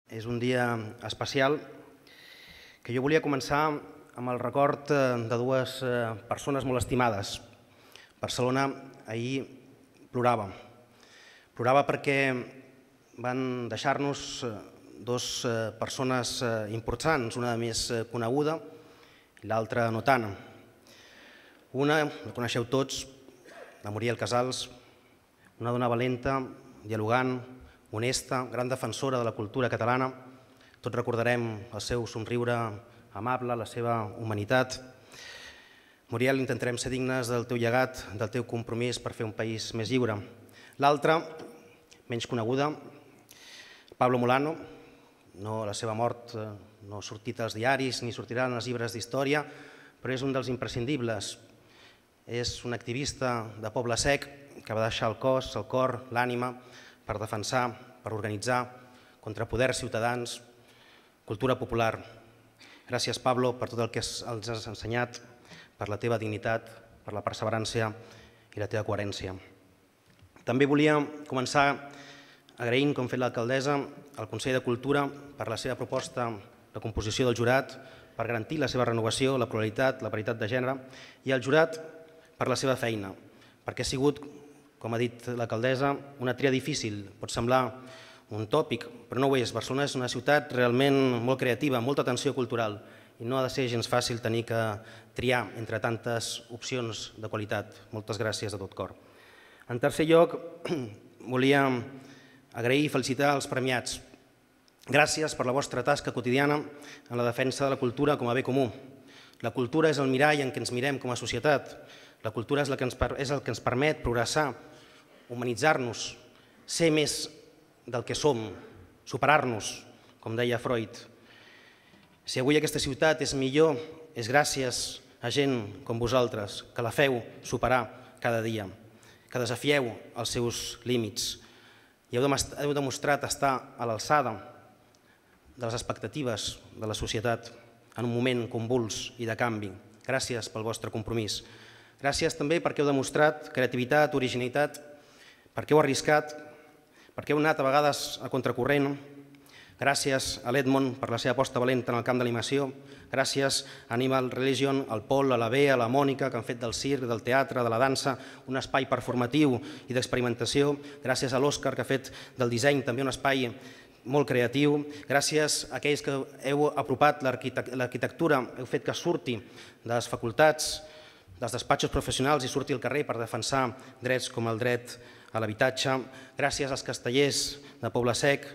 És un dia especial que jo volia començar amb el record de dues persones molt estimades. Barcelona ahir plorava. Plorava perquè van deixar-nos dues persones importants, una més coneguda i l'altra no tant. Una, la coneixeu tots, la Muriel Casals, una dona valenta, dialogant, honesta, gran defensora de la cultura catalana. Tots recordarem el seu somriure amable, la seva humanitat. Muriel, intentarem ser dignes del teu llegat, del teu compromís per fer un país més lliure. L'altra, menys coneguda, Pablo Molano. La seva mort no ha sortit als diaris ni sortirà en els llibres d'història, però és un dels imprescindibles. És un activista de Poble Sec que va deixar el cos, el cor, l'ànima per defensar, per organitzar contra poders ciutadans, cultura popular. Gràcies, Pablo, per tot el que ens has ensenyat, per la teva dignitat, per la perseverància i la teva coherència. També volia començar agraint, com ha fet l'alcaldessa, al Consell de Cultura per la seva proposta de composició del jurat, per garantir la seva renovació, la pluralitat, la paritat de gènere, i al jurat per la seva feina, perquè ha sigut, com ha dit l'alcaldessa, una tria difícil. Pot semblar un tòpic, però no ho és. Barcelona és una ciutat realment molt creativa, amb molta tensió cultural, i no ha de ser gens fàcil tenir que triar entre tantes opcions de qualitat. Moltes gràcies de tot cor. En tercer lloc, volia agrair i felicitar els premiats. Gràcies per la vostra tasca quotidiana en la defensa de la cultura com a bé comú. La cultura és el mirall en què ens mirem com a societat. La cultura és el que ens permet progressar, humanitzar-nos, ser més del que som, superar-nos, com deia Freud. Si avui aquesta ciutat és millor, és gràcies a gent com vosaltres, que la feu superar cada dia, que desafieu els seus límits i heu demostrat estar a l'alçada de les expectatives de la societat en un moment convuls i de canvi. Gràcies pel vostre compromís. Gràcies també perquè heu demostrat creativitat, originalitat, perquè heu arriscat, perquè heu anat a vegades a contracorrent. Gràcies a l'Edmond per la seva aposta valenta en el camp de l'animació. Gràcies a Animal Religion, al Pol, a la Bea, a la Mònica, que han fet del circ, del teatre, de la dansa, un espai performatiu i d'experimentació. Gràcies a l'Òscar, que ha fet del disseny també un espai molt creatiu. Gràcies a aquells que heu apropat l'arquitectura, heu fet que surti de les facultats, dels despatxos professionals i surti al carrer per defensar drets com el dret a l'habitatge. Gràcies als castellers de Poble Sec,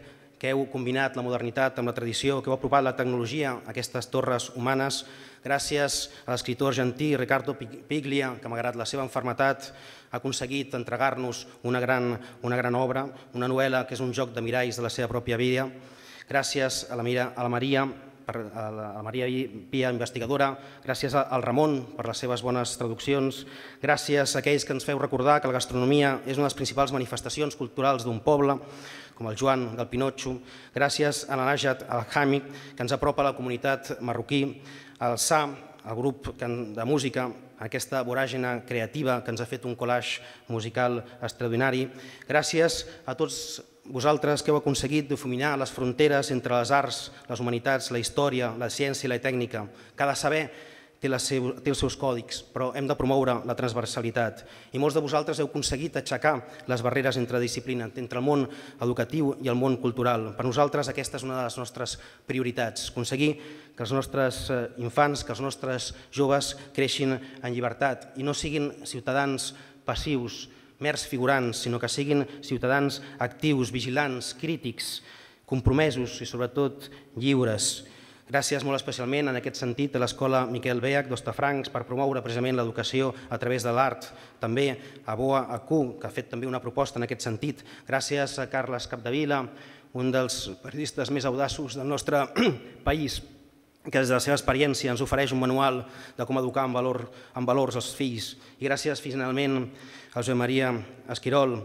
que heu combinat la modernitat amb la tradició, que heu apropat la tecnologia a aquestes torres humanes. Gràcies a l'escriptor argentí Riccardo Piglia, que malgrat la seva malaltia ha aconseguit entregar-nos una gran obra, una novel·la que és un joc de miralls de la seva pròpia vida. Gràcies a la Maria Pia, investigadora, gràcies al Ramon per les seves bones traduccions, gràcies a aquells que ens feu recordar que la gastronomia és una de les principals manifestacions culturals d'un poble, com el Joan del Pinotxo, gràcies a la Najat Al-Hami, que ens apropa a la comunitat marroquí, al SA, el grup de música, aquesta voràgina creativa que ens ha fet un collage musical extraordinari. Gràcies a tots vosaltres que heu aconseguit difuminar les fronteres entre les arts, les humanitats, la història, la ciència i la tècnica. Cada saber té els seus còdics, però hem de promoure la transversalitat. I molts de vosaltres heu aconseguit aixecar les barreres entre disciplines, entre el món educatiu i el món cultural. Per nosaltres aquesta és una de les nostres prioritats, aconseguir que els nostres infants, que els nostres joves creixin en llibertat i no siguin ciutadans passius, mers figurants, sinó que siguin ciutadans actius, vigilants, crítics, compromesos i sobretot lliures. Gràcies molt especialment en aquest sentit a l'Escola Miquel Beach d'Hostafrancs per promoure precisament l'educació a través de l'art. També a Boa Acu, que ha fet també una proposta en aquest sentit. Gràcies a Carles Capdevila, un dels periodistes més audaços del nostre país, que des de la seva experiència ens ofereix un manual de com educar amb valors els fills. I gràcies finalment a Josep Maria Esquirol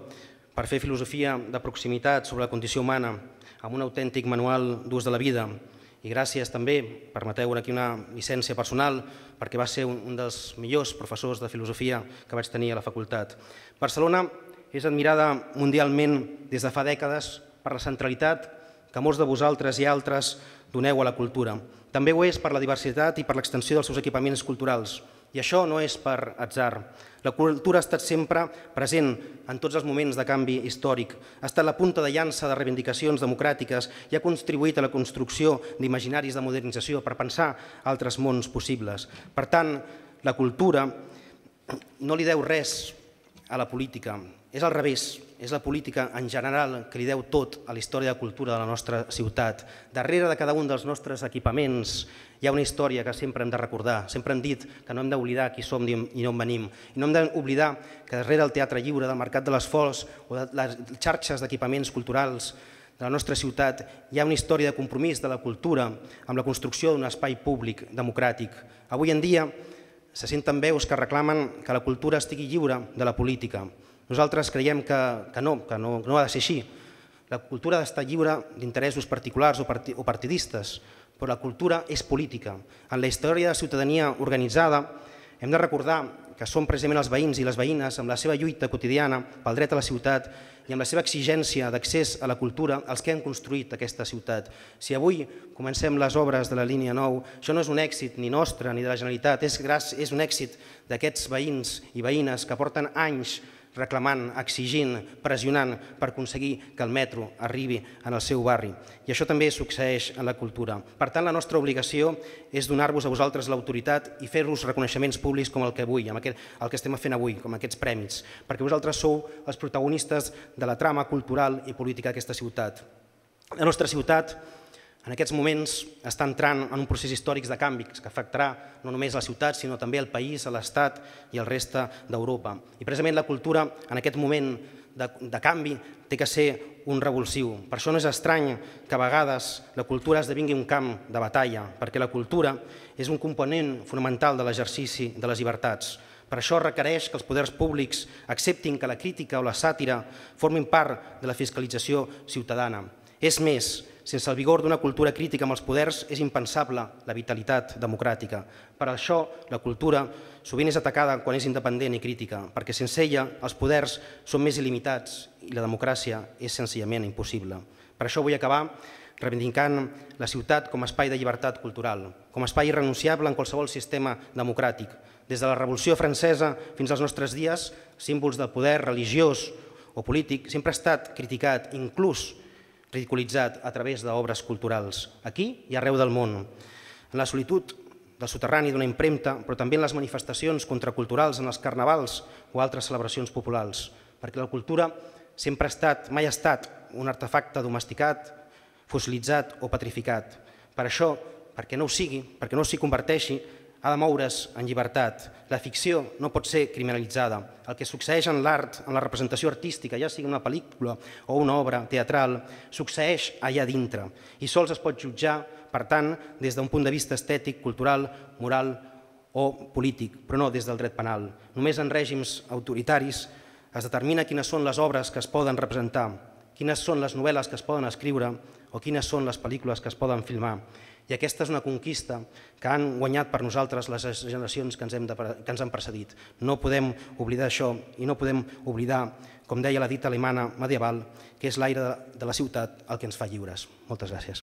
per fer filosofia de proximitat sobre la condició humana amb un autèntic manual d'ús de la vida. I gràcies també, permeteu aquí una llicència personal, perquè va ser un dels millors professors de filosofia que vaig tenir a la facultat. Barcelona és admirada mundialment des de fa dècades per la centralitat que molts de vosaltres i altres doneu a la cultura. També ho és per la diversitat i per l'extensió dels seus equipaments culturals. I això no és per atzar. La cultura ha estat sempre present en tots els moments de canvi històric, ha estat la punta de llança de reivindicacions democràtiques i ha contribuït a la construcció d'imaginaris de modernització per pensar altres mons possibles. Per tant, la cultura no li deu res a la política, és al revés, és la política en general que li deu tot a la història de cultura de la nostra ciutat. Darrere de cada un dels nostres equipaments hi ha una història que sempre hem de recordar. Sempre hem dit que no hem d'oblidar qui som i d'on venim. I no hem d'oblidar que darrere del Teatre Lliure, del Mercat de les Flors o de les xarxes d'equipaments culturals de la nostra ciutat hi ha una història de compromís de la cultura amb la construcció d'un espai públic democràtic. Avui en dia se senten veus que reclamen que la cultura estigui lliure de la política. Nosaltres creiem que no ha de ser així. La cultura ha d'estar lliure d'interessos particulars o partidistes, però la cultura és política. En la història de la ciutadania organitzada hem de recordar que són precisament els veïns i les veïnes amb la seva lluita quotidiana pel dret a la ciutat i amb la seva exigència d'accés a la cultura els que han construït aquesta ciutat. Si avui comencem les obres de la línia 9, això no és un èxit ni nostre ni de la Generalitat, és un èxit d'aquests veïns i veïnes que porten anys reclamant, exigint, pressionant per aconseguir que el metro arribi en el seu barri. I això també succeeix en la cultura. Per tant, la nostra obligació és donar-vos a vosaltres l'autoritat i fer-vos reconeixements públics com el que estem fent avui, com aquests prèmits, perquè vosaltres sou els protagonistes de la trama cultural i política d'aquesta ciutat. La nostra ciutat en aquests moments està entrant en un procés històric de canvi que afectarà no només la ciutat, sinó també el país, l'Estat i el reste d'Europa. I precisament la cultura en aquest moment de canvi té que ser un revulsiu. Per això no és estrany que a vegades la cultura esdevingui un camp de batalla, perquè la cultura és un component fonamental de l'exercici de les llibertats. Per això requereix que els poders públics acceptin que la crítica o la sàtira formin part de la fiscalització ciutadana. És més, sense el vigor d'una cultura crítica amb els poders és impensable la vitalitat democràtica. Per això la cultura sovint és atacada quan és independent i crítica, perquè sense ella els poders són més il·limitats i la democràcia és senzillament impossible. Per això vull acabar reivindicant la ciutat com a espai de llibertat cultural, com a espai irrenunciable en qualsevol sistema democràtic. Des de la Revolució Francesa fins als nostres dies, símbols del poder religiós o polític sempre ha estat criticat, inclús ridiculitzat a través d'obres culturals, aquí i arreu del món. En la solitud del soterrani d'una impremta, però també en les manifestacions contraculturals, en els carnavals o altres celebracions populars, perquè la cultura sempre ha estat, mai ha estat, un artefacte domesticat, fossilitzat o petrificat. Per això, perquè no ho sigui, perquè no s'hi converteixi, ha de moure's en llibertat. La ficció no pot ser criminalitzada. El que succeeix en l'art, en la representació artística, ja sigui una pel·lícula o una obra teatral, succeeix allà dintre i sols es pot jutjar, per tant, des d'un punt de vista estètic, cultural, moral o polític, però no des del dret penal. Només en règims autoritaris es determina quines són les obres que es poden representar, quines són les novel·les que es poden escriure o quines són les pel·lícules que es poden filmar. I aquesta és una conquista que han guanyat per nosaltres les generacions que ens han precedit. No podem oblidar això i no podem oblidar, com deia la dita alemana medieval, que és l'aire de la ciutat el que ens fa lliures. Moltes gràcies.